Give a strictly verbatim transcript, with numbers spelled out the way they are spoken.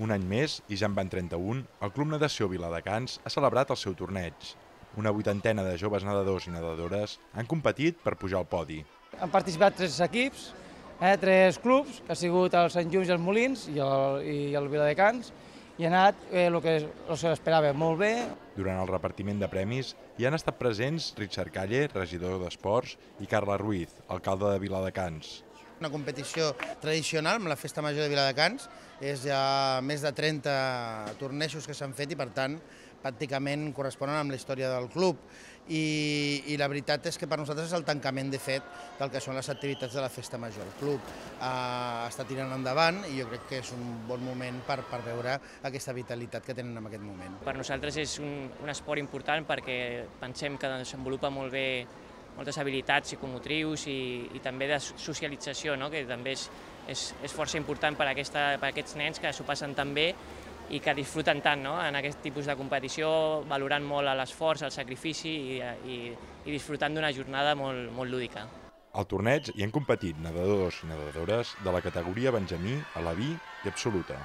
Un any més, i ja en van trenta-un, el Club Natació Viladecans ha celebrat el seu torneig. Una vuitantena de joves nedadors i nedadores han competit per pujar al podi. Han participat tres equips, eh, tres clubs, que ha sigut el Sant Just i els Molins i el, i el Viladecans, i ha anat eh, el que s'esperava molt bé. Durant el repartiment de premis hi han estat presents Richard Calle, regidor d'Esports, i Carla Ruiz, alcalde de Viladecans. Una competició tradicional amb la Festa Major de Viladecans. És ja més de trenta tornejos que s'han fet i, per tant, pràcticament corresponen amb la història del club. I, i la veritat és que per nosaltres és el tancament de fet del que són les activitats de la Festa Major. El club eh, està tirant endavant i jo crec que és un bon moment per, per veure aquesta vitalitat que tenen en aquest moment. Per nosaltres és un, un esport important perquè pensem que desenvolupa molt bé moltes habilitats psicomotrius i, i també de socialització, no? Que també és, és, és força important per, aquesta, per aquests nens que s'ho passen tan bé i que disfruten tant, no? En aquest tipus de competició, valorant molt l'esforç, el sacrifici i, i, i disfrutant d'una jornada molt, molt lúdica. Al torneig hi han competit nedadors i nedadores de la categoria Benjamí, Alaví i Absoluta.